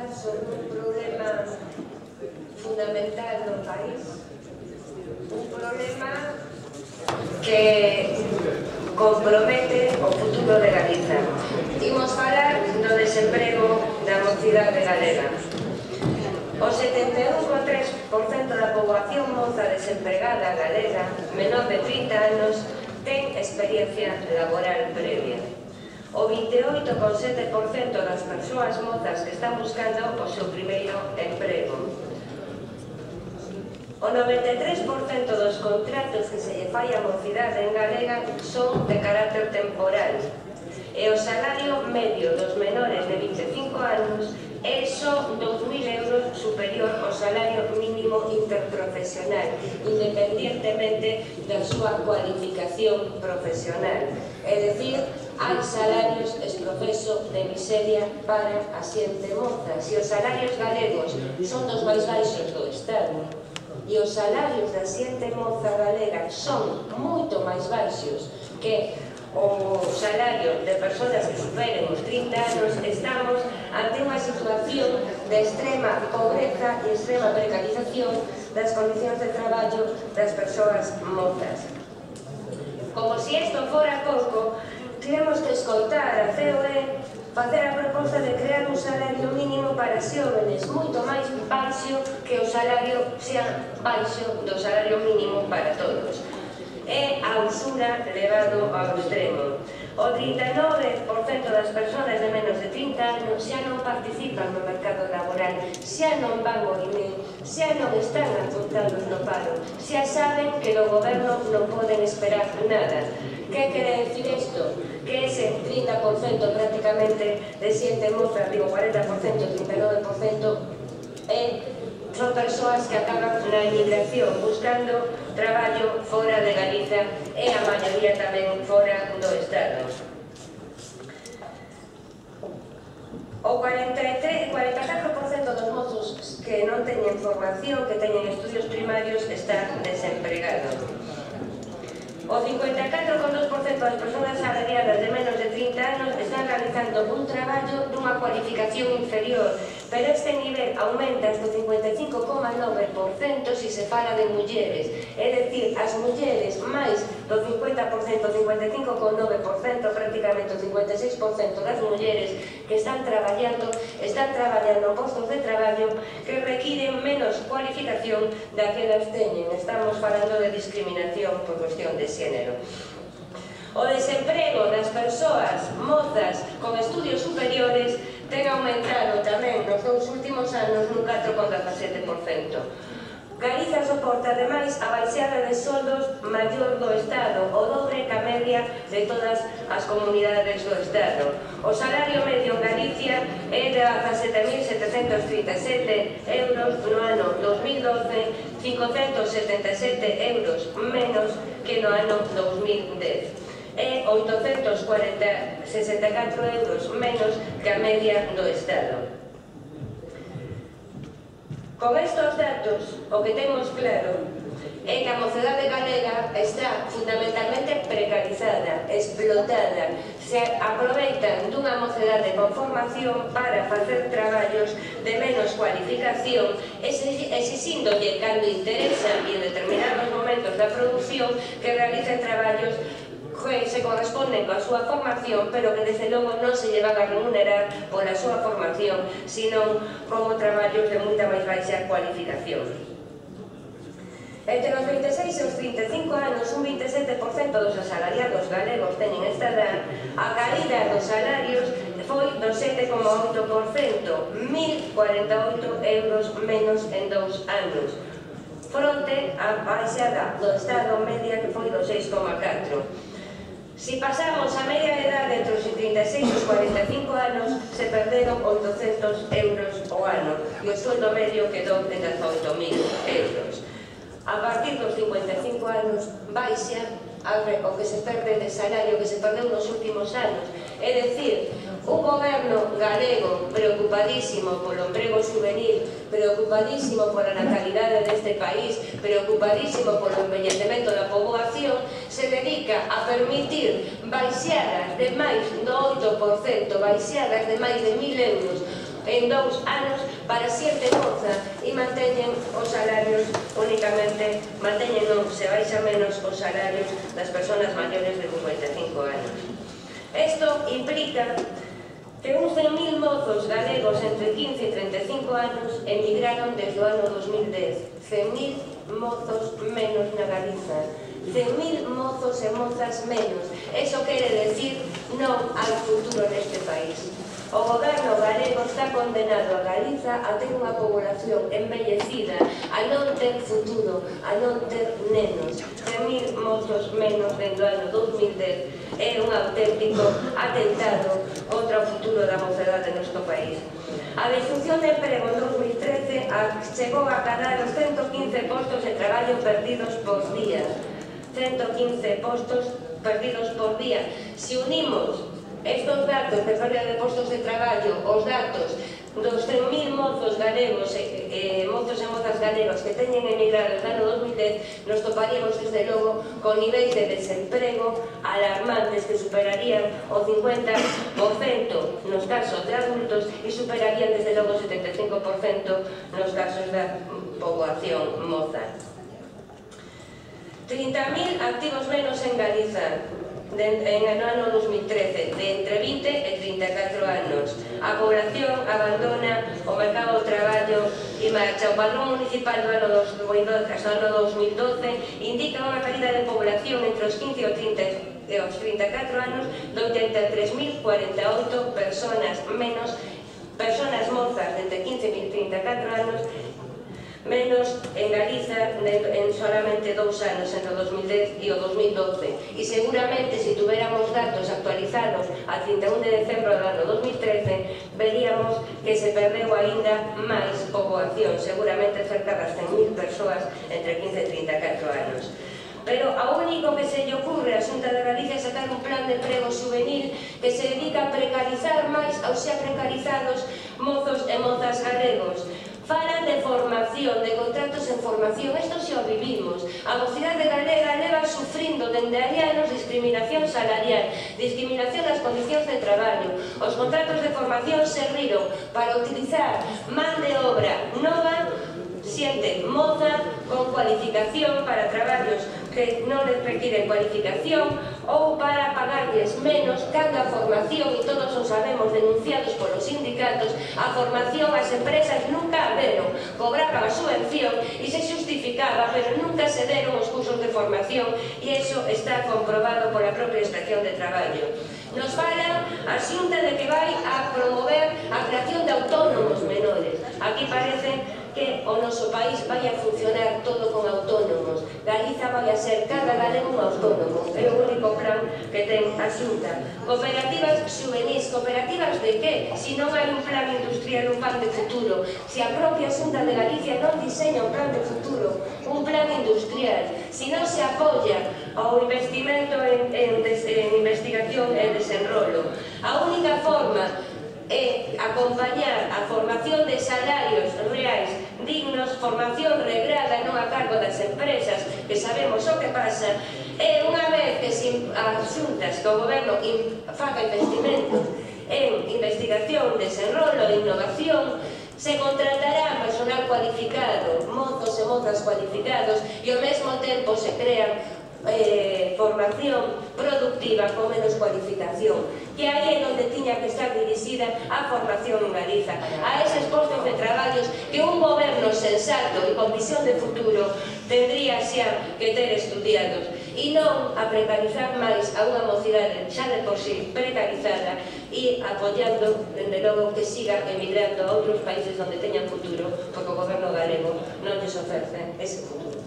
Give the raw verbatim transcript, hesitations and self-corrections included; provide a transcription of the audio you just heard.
falar sobre un problema fundamental no país, un problema que compromete o futuro de Galiza. Imos falar do desemprego da mocidade galega. O setenta e un vírgula tres por cento da poboación moza desempregada galega, menor de trinta anos, ten experiencia laboral previa. O vinte e oito vírgula sete por cento das persoas mozas que están buscando o seu primeiro emprego. O noventa e tres por cento dos contratos que se lle fai a mocidade en galega son de carácter temporal. E o salario medio dos menores de vinte e cinco anos é só dous mil euros superior ao salario mínimo interprofesional, independientemente da súa cualificación profesional. É dicir, hai salarios esprofeso de miseria para a xente moza. Se os salarios galegos son dos máis baixos do Estado e os salarios da xente moza galega son moito máis baixos que o salario de persoas que superen os trinta anos, estamos ante unha situación de extrema pobreza e extrema precarización das condicións de traballo das persoas mozas. Como se isto fora pouco, temos que escoitar a C O E facer a proposta de crear un salario mínimo para xóvenes moito máis baixo que o salario xa baixo do salario mínimo para todos. É a usura levado ao extremo. O trinta e nove por cento das persoas de menos de trinta anos xa non participan no mercado laboral, xa non van ao I N E, xa non están apuntados no paro, xa saben que do goberno non poden esperar nada. Que quere decir isto? Que ese trinta por cento prácticamente de xente moza, digo cuarenta por cento, trinta e nove por cento, é son persoas que acaban na emigración buscando traballo fora de Galiza e a maioría tamén fora do Estado. O cuarenta e catro por cento dos mozos que non teñen formación, que teñen estudios primarios, están desempregados. O cincuenta e catro vírgula dos por cento das persoas asalariadas de menos de trinta anos están realizando un traballo dunha cualificación inferior, pero este nivel aumenta hasta o cincuenta e cinco vírgula nove por cento se se fala de mulleres, é dicir, as mulleres máis do cincuenta por cento, cincuenta e cinco vírgula nove por cento, prácticamente o cincuenta e seis por cento das mulleres que están traballando, están traballando postos de traballo que requiren menos cualificación da que elas teñen. Estamos falando de discriminación por cuestión de xénero. O desemprego das persoas mozas con estudios superiores ten aumentado tamén nos dous últimos anos nun catro vírgula dezasete por cento. Galiza soporta, ademais, a baixada de soldos maior do Estado, o dobre que a media de todas as comunidades do Estado. O salario medio en Galicia é de dezasete mil setecentos trinta e sete euros no ano dos mil doce, cincocentos setenta e sete euros menos que no ano dos mil dez. É oitocentos sesenta e catro euros menos que a media do Estado. Con estes datos, o que temos claro é que a mocedade galega está fundamentalmente precarizada, explotada, se aproveitan dunha mocedade con formación para facer traballos de menos cualificación, exixíndolle cando interesa e en determinados momentos da produción que realicen traballos que se corresponden coa súa formación, pero que desde logo non se lle van a remunerar pola súa formación, sino como traballos de moita máis baixa cualificación. Entre os vinte e seis e os trinta e cinco anos, un vinte e sete por cento dos asalariados galegos teñen esta edad. A caída dos salarios foi do sete vírgula oito por cento, mil cuarenta e oito euros menos en dous anos, fronte á baixada do Estado media que foi do seis vírgula catro por cento. Se pasamos a media de edade entre os trinta e seis e os cuarenta e cinco anos, se perderon oitocentos euros ao ano e o sueldo medio quedou en dezaoito mil euros. A partir dos cincuenta e cinco anos, baixa o que se perde de salario que se perdeu nos últimos anos. É dicir, un goberno galego preocupadísimo polo emprego juvenil, preocupadísimo pola natalidade deste país, preocupadísimo polo envellecemento da poboación, se dedica a permitir baixadas de máis do oito por cento, baixadas de máis de mil euros en dous anos para xente moza e manteñen os salarios únicamente, manteñen non, se baixa menos os salarios das persoas maiores de cincuenta e cinco anos. Isto implica que uns cen mil mozos galegos entre quince e treinta e cinco anos emigraron desde o ano dos mil dez. cen mil mozos menos na Galiza. cen mil mozos e mozas menos. Eso quere decir non ao futuro neste país. O goberno galego está condenado a Galiza a ter unha población envellecida, a non ter futuro, a non ter nenos. cen mil mozos menos dentro do ano dos mil dez é un auténtico atentado contra o futuro da mocedade do noso país. A destrucción de emprego en dos mil trece chegou a cadar os ciento quince postos de traballo perdidos por día. ciento quince postos perdidos por día. Se unimos estos datos de pérdida de postos de traballo, os datos dos cen mil mozos galegos e eh, mozos e mozas galegos que teñen emigrado no ano dos mil dez, nos toparíamos desde logo con niveis de desemprego alarmantes que superarían o cincuenta por cento nos casos de adultos e superarían desde logo o setenta e cinco por cento nos casos da poboación moza. trinta mil activos menos en Galiza en el ano dos mil trece, de entre vinte e trinta e catro anos. A población abandona o mercado do traballo e marcha. O padrón municipal do ano dos mil doce indica unha caída de población entre os quince e os trinta e catro anos de oitenta e tres mil cuarenta e oito personas menos, personas mozas de entre quince e trinta e catro anos menos en Galiza en solamente dous anos, entre o dos mil dez e o dos mil doce. E seguramente, se tuviéramos datos actualizados a trinta e un de decembro do ano dos mil trece, veríamos que se perdeu aínda máis poboación, seguramente cerca das cen mil persoas entre quince e trinta e catro anos. Pero ao único que se lle ocurre a Xunta de Galicia é sacar un plan de emprego juvenil que se dedica a precarizar máis aos xa precarizados mozos e mozas galegos. Falan de formación, de contratos en formación, isto xa o vivimos. A mocidade galega leva sufrindo dende hai anos discriminación salarial, discriminación nas condicións de traballo. Os contratos de formación serviron para utilizar man de obra nova, xente moza, con cualificación para traballos que non les requiren cualificación ou para pagarles menos cando a formación, e todos o sabemos, denunciados polos sindicatos, a formación as empresas nunca a deron, cobraban a subvención e se justificaba, pero nunca se deron os cursos de formación e iso está comprobado pola propia Inspección de Traballo. Nos fala a Xunta de que vai a promover a creación de autónomos menores. Aquí parece que o noso país vai a funcionar todo con autónomos. Galiza vai a ser cada galego un autónomo. É o único plan que ten a Xunta. Cooperativas xuvenis. Cooperativas de que? Se non hai un plan industrial, un plan de futuro. Se a propia Xunta de Galicia non diseña un plan de futuro, un plan industrial. Se non se apoia ao investimento en, en, en investigación e desenrolo. A única forma é acompañar a formación de salarios reais dignos, formación regrada non a cargo das empresas, que sabemos o que pasa, e unha vez que as xuntas, que o goberno faga investimentos en investigación, desenrolo e innovación, se contratará personal cualificado, mozos e mozas cualificados, e ao mesmo tempo se crean Eh, formación productiva con menos cualificación, que aí é onde tiña que estar dirixida a formación en Galiza, a eses postos de traballos que un goberno sensato e con visión de futuro tendría xa que ter estudiados, e non a precarizar máis a unha mocidade xa de por sí precarizada e apoiando, dende logo, que siga emigrando a outros países onde teñan futuro, porque o goberno galego non lles ofrece ese futuro.